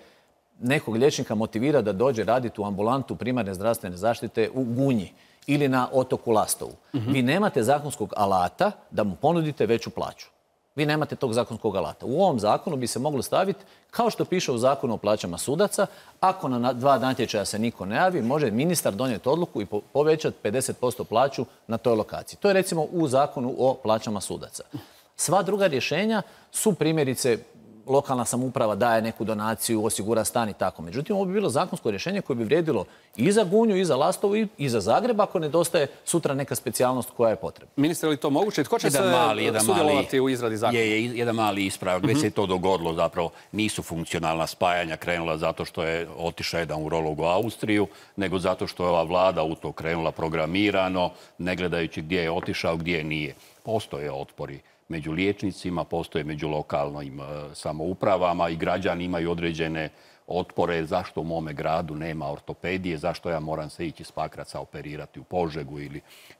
nekog liječnika motivira da dođe raditi u ambulantu primarne zdravstvene zaštite u Gunji ili na otoku Lastovu. Vi nemate zakonskog alata da mu ponudite veću plaću. Vi nemate tog zakonskog alata. U ovom zakonu bi se moglo staviti, kao što piše u zakonu o plaćama sudaca, ako na 2 natječaja se niko ne javi, može ministar donijeti odluku i povećati 50% plaću na toj lokaciji. To je recimo u zakonu o plaćama sudaca. Sva druga rješenja su primjerice lokalna samouprava daje neku donaciju, osigura stan i tako. Međutim, ovo bi bilo zakonsko rješenje koje bi vrijedilo i za Gunju, i za Lastovu, i za Zagreb, ako nedostaje sutra neka specijalnost koja je potrebna. Ministre, je li to moguće? Tko će sudjelovati u izradi zakona? Jedan mali ispravak. Već se je to dogodilo zapravo. Nisu funkcionalna spajanja krenula zato što je otišao jedan urolog u Austriju, nego zato što je ova vlada u to krenula programirano, ne gledajući gdje je otišao, gdje nije. Postoje otpori među liječnicima, postoje među lokalnim samoupravama i građani imaju određene otpore zašto u mome gradu nema ortopedije, zašto ja moram se ići s Pakraca operirati u Požegu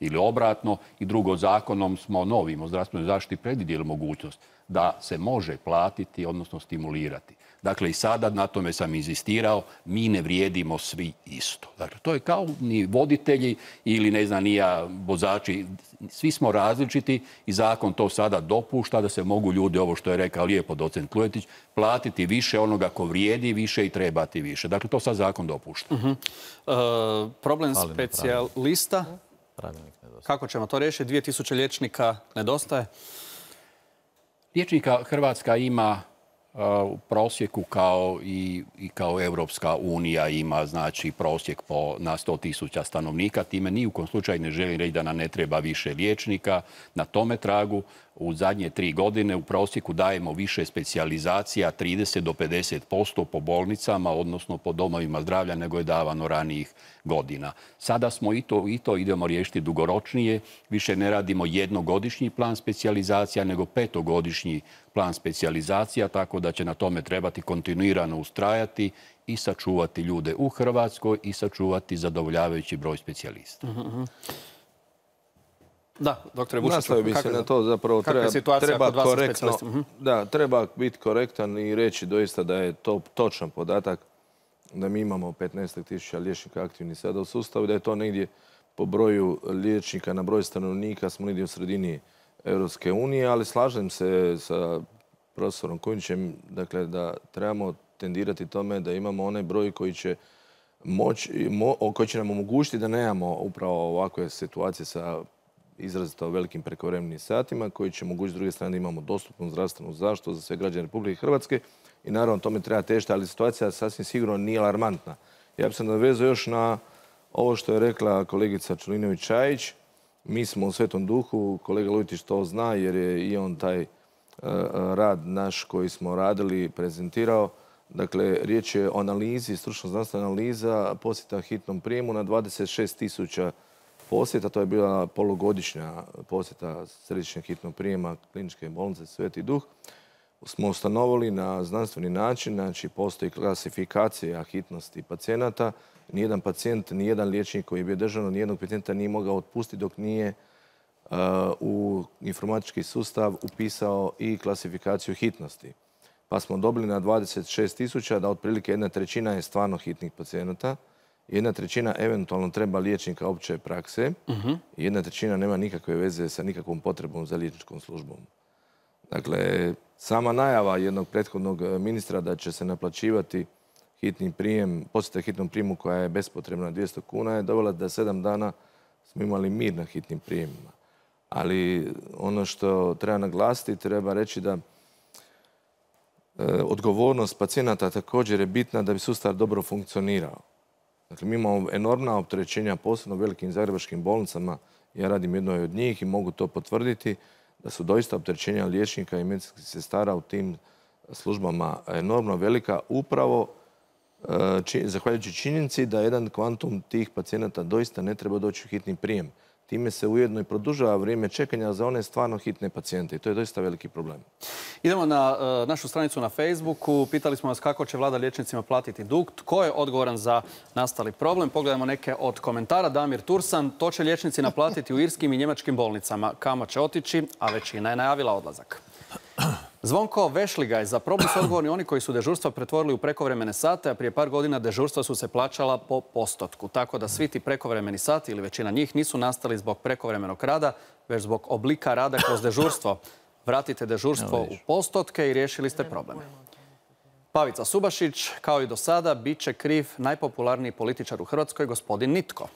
ili obratno. I drugo, zakonom smo novim o zdravstvenoj zaštiti predvidjeli mogućnost da se može platiti, odnosno stimulirati. Dakle, i sada na tome sam inzistirao, mi ne vrijedimo svi isto. Dakle, to je kao ni voditelji ili ne znam ni ja vozači, svi smo različiti i zakon to sada dopušta da se mogu ljudi, ovo što je rekao lijepo docent Klujetić, platiti više onoga ko vrijedi više i trebati više. Dakle, to sad zakon dopušta. Problem specijalista, kako ćemo to riješiti? 2000 liječnika nedostaje? Liječnika Hrvatska ima u prosjeku kao Europska unija ima znači prosjek na 100.000 stanovnika. Time ni u kom slučaju ne želim reći da nam ne treba više liječnika. Na tome tragu u zadnje 3 godine u prosjeku dajemo više specijalizacija 30 do 50% po bolnicama, odnosno po domovima zdravlja nego je davano ranijih godina. Sada smo i to idemo riješiti dugoročnije. Više ne radimo jednogodišnji plan specijalizacija nego 5-godišnji plan specijalizacija, tako da će na tome trebati kontinuirano ustrajati i sačuvati ljude u Hrvatskoj i sačuvati zadovoljavajući broj specijalista. Da, doktore Vučiću, nastavio bi se na to, zapravo treba biti korektan i reći doista da je to točan podatak da mi imamo 15.000 liječnika aktivnih sada u sustavu, da je to negdje po broju liječnika na broj stanovnika smo negdje u sredini Europske unije, ali slažem se sa profesorom Kujundžićem, dakle da trebamo tendirati tome da imamo onaj broj koji će nam omogućiti da nemamo upravo ovakve situacije sa izrazito velikim prekovremenim satima, koji će omogućiti s druge strane da imamo dostupnu zdravstvenu zaštitu za sve građane Republike Hrvatske i naravno tome treba težiti, ali situacija sasvim sigurno nije alarmantna. Ja bih se nadovezao još na ovo što je rekla kolegica Čulinović-Čajić. Mi smo u Svetom duhu, kolega Lujtić to zna jer je i on taj rad naš koji smo radili prezentirao. Dakle, riječ je o analizi, stručno znanstvena analiza posjeta hitnom prijemu na 26.000 posjeta. To je bila polugodišnja posjeta središnjeg hitnog prijema kliničke bolnice Sveti Duh. Smo ustanovili na znanstveni način, znači postoji klasifikacija hitnosti pacijenata. Nijedan pacijent, nijedan liječnik koji je bio državno, nijednog pacijenta nije mogao otpustiti dok nije u informatički sustav upisao i klasifikaciju hitnosti. Pa smo dobili na 26.000 da otprilike 1/3 je stvarno hitnih pacijenata, 1/3 eventualno treba liječnika opće prakse i 1/3 nema nikakve veze sa nikakvom potrebom za liječničkom službom. Dakle, sama najava jednog prethodnog ministra da će se naplaćivati hitni prijem, posjeta hitnom prijemu koja je bespotrebna 200 kuna je dovela da 7 dana smo imali mir na hitnim prijemima. Ali ono što treba naglasiti, treba reći da odgovornost pacijenata također je bitna da bi sustav dobro funkcionirao. Dakle, mi imamo enormna opterećenja, posebno u velikim zagrebačkim bolnicama. Ja radim jednoj od njih i mogu to potvrditi da su doista opterećenja liječnika i medicinskih sestara u tim službama enormno velika, upravo zahvaljujući činjenici da jedan kvantum tih pacijenata doista ne treba doći u hitni prijem. Time se ujedno i produžava vrijeme čekanja za one stvarno hitne pacijente i to je doista veliki problem. Idemo na našu stranicu na Facebooku. Pitali smo vas kako će vlada liječnicima platiti dug. Tko je odgovoran za nastali problem? Pogledajmo neke od komentara. Damir Tursan, to će liječnici naplatiti u irskim i njemačkim bolnicama. Kamo će otići, a većina je najavila odlazak. Zvonko Vešligaj, za problem su odgovorni oni koji su dežurstva pretvorili u prekovremene sate, a prije par godina dežurstva su se plaćala po postotku. Tako da svi ti prekovremeni sati ili većina njih nisu nastali zbog prekovremenog rada, već zbog oblika rada kroz dežurstvo. Vratite dežurstvo u postotke i riješili ste problem. Pavica Subašić, kao i do sada, bit će kriv najpopularniji političar u Hrvatskoj, gospodin Nitko.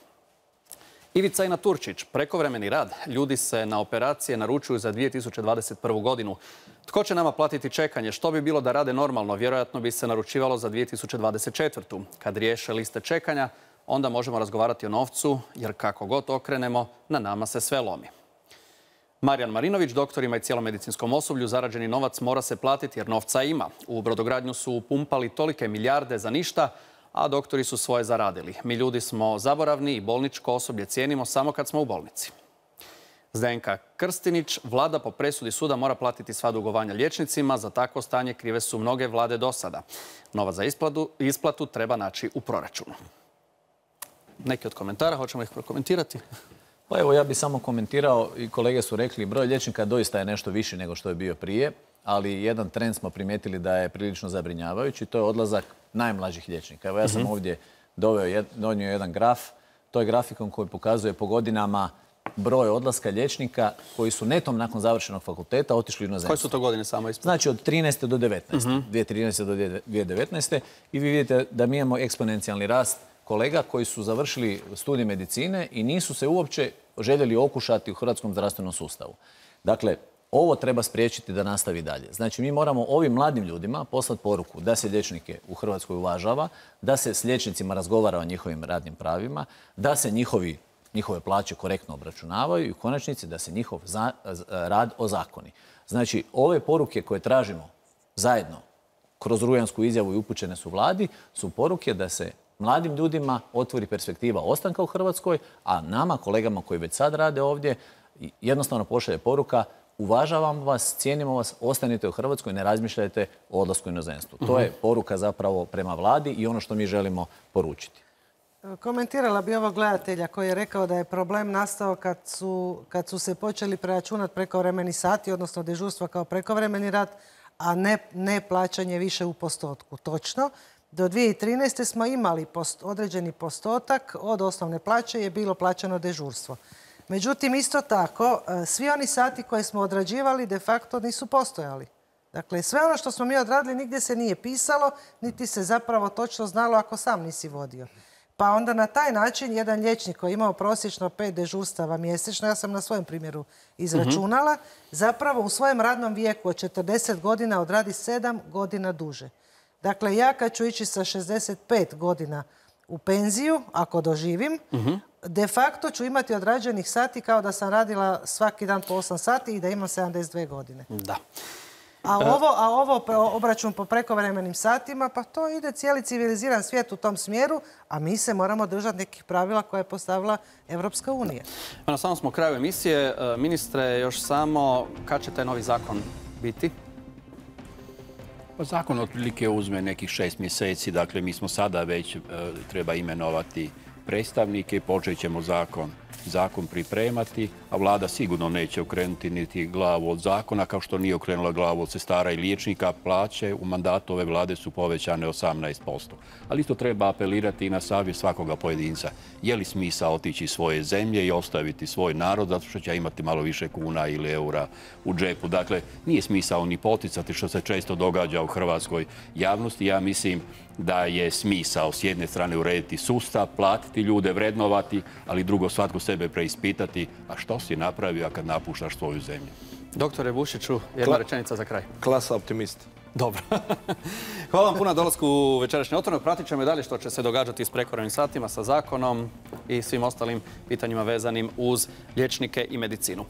Ivica Ina Turčić, prekovremeni rad. Ljudi se na operacije naručuju za 2021. godinu. Tko će nama platiti čekanje? Što bi bilo da rade normalno? Vjerojatno bi se naručivalo za 2024. Kad riješe liste čekanja, onda možemo razgovarati o novcu, jer kako god okrenemo, na nama se sve lomi. Marijan Marinović, doktorima i cijelom medicinskom osoblju zarađeni novac mora se platiti jer novca ima. U brodogradnju su upumpali tolike milijarde za ništa, a doktori su svoje zaradili. Mi ljudi smo zaboravni i bolničko osoblje cijenimo samo kad smo u bolnici. Zdenka Krstinić, vlada po presudi suda mora platiti sva dugovanja liječnicima. Za takvo stanje krive su mnoge vlade do sada. Novac za isplatu treba naći u proračunu. Neki od komentara, hoćemo ih prokomentirati? Pa evo, ja bih samo komentirao i kolege su rekli, broj liječnika doista je nešto viši nego što je bio prije, ali jedan trend smo primijetili da je prilično zabrinjavajući, to je odlazak najmlađih liječnika. Evo, ja sam ovdje donio jedan graf, to je grafikon koji pokazuje po godinama broj odlaska liječnika koji su netom nakon završenog fakulteta otišli u inozemstvo. Koje su to godine samo ispod? Znači od 13. do 19. 2013. do 2019. I vi vidite da mi imamo eksponencijalni rast kolega koji su završili studij medicine i nisu se uopće željeli okušati u hrvatskom zdravstvenom sustavu. Dakle, ovo treba spriječiti da nastavi dalje. Znači, mi moramo ovim mladim ljudima poslati poruku da se liječnike u Hrvatskoj uvažava, da se s liječnicima razgovara o njihovim radnim pravima, da se njihove plaće korektno obračunavaju i u konačnici da se njihov rad ozakoni. Znači, ove poruke koje tražimo zajedno kroz rujansku izjavu i upućene su vladi, su poruke da se mladim ljudima otvori perspektiva ostanka u Hrvatskoj, a nama, kolegama koji već sad rade ovdje, jednostavno pošalje poruka: uvažavamo vas, cijenimo vas, ostanite u Hrvatskoj, ne razmišljajte o odlasku u inozemstvu. To je poruka zapravo prema vladi i ono što mi želimo poručiti. Komentirala bi ovog gledatelja koji je rekao da je problem nastao kad su se počeli preračunati prekovremeni sati, odnosno dežurstva kao prekovremeni rad, a ne plaćanje više u postotku. Točno. Do 2013. smo imali određeni postotak od osnovne plaće je bilo plaćano dežurstvo. Međutim, isto tako, svi oni sati koje smo odrađivali de facto nisu postojali. Dakle, sve ono što smo mi odradili nigdje se nije pisalo, niti se zapravo točno znalo ako sam nisi vodio. Pa onda na taj način jedan liječnik koji je imao prosječno 5 dežurstava mjesečno, ja sam na svojem primjeru izračunala, zapravo u svojem radnom vijeku od 40 godina odradi 7 godina duže. Dakle, ja kad ću ići sa 65 godina u penziju, ako doživim, de facto ću imati odrađenih sati kao da sam radila svaki dan po 8 sati i da imam 72 godine. Da. A ovo obračun po prekovremenim satima, pa to ide cijeli civiliziran svijet u tom smjeru, a mi se moramo držati nekih pravila koje je postavila Evropska unija. Na samom smo kraju emisije. Ministre, još samo kad će taj novi zakon biti? Zakon otprilike uzme nekih 6 mjeseci, dakle mi smo sada već treba imenovati predstavnike i počet ćemo zakon zakon pripremati, a vlada sigurno neće okrenuti niti glavu od zakona, kao što nije okrenula glavu od sestara i liječnika. Plaće u mandatu ove vlade su povećane 18%. Ali isto treba apelirati i na savjest svakoga pojedinca. Je li smisao otići iz svoje zemlje i ostaviti svoj narod zato što će imati malo više kuna ili eura u džepu? Dakle, nije smisao ni poticati, što se često događa u hrvatskoj javnosti. Ja mislim da je smisao s jedne strane urediti sustav, platiti ljude, vrednovati, ali drugo svatko sebe preispitati, a što si napravio kad napuštaš svoju zemlju? Doktore Bušiću, jedna rečenica za kraj. Klasa optimist. Dobro. Hvala vam puno na dolasku u večerašnje Otvoreno. Pratit ćemo i dalje što će se događati s prekovremenim satima, sa zakonom i svim ostalim pitanjima vezanim uz liječnike i medicinu.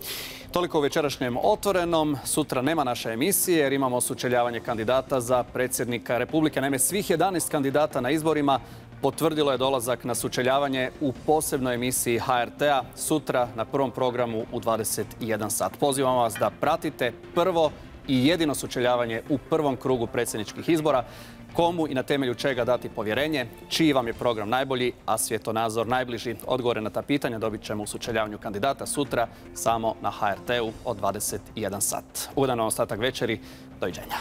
Toliko u večerašnjem Otvorenom. Sutra nema naše emisije jer imamo sučeljavanje kandidata za predsjednika Republike. Naime, svih 11 kandidata na izborima potvrdilo je dolazak na sučeljavanje u posebnoj emisiji HRT-a sutra na prvom programu u 21 sat. Pozivam vas da pratite prvo i jedino sučeljavanje u prvom krugu predsjedničkih izbora. Komu i na temelju čega dati povjerenje, čiji vam je program najbolji, a svjetonazor najbliži. Odgovore na ta pitanja dobit ćemo u sučeljavanju kandidata sutra samo na HRT-u od 21 sat. Ugodan vam ostatak večeri. Doviđenja.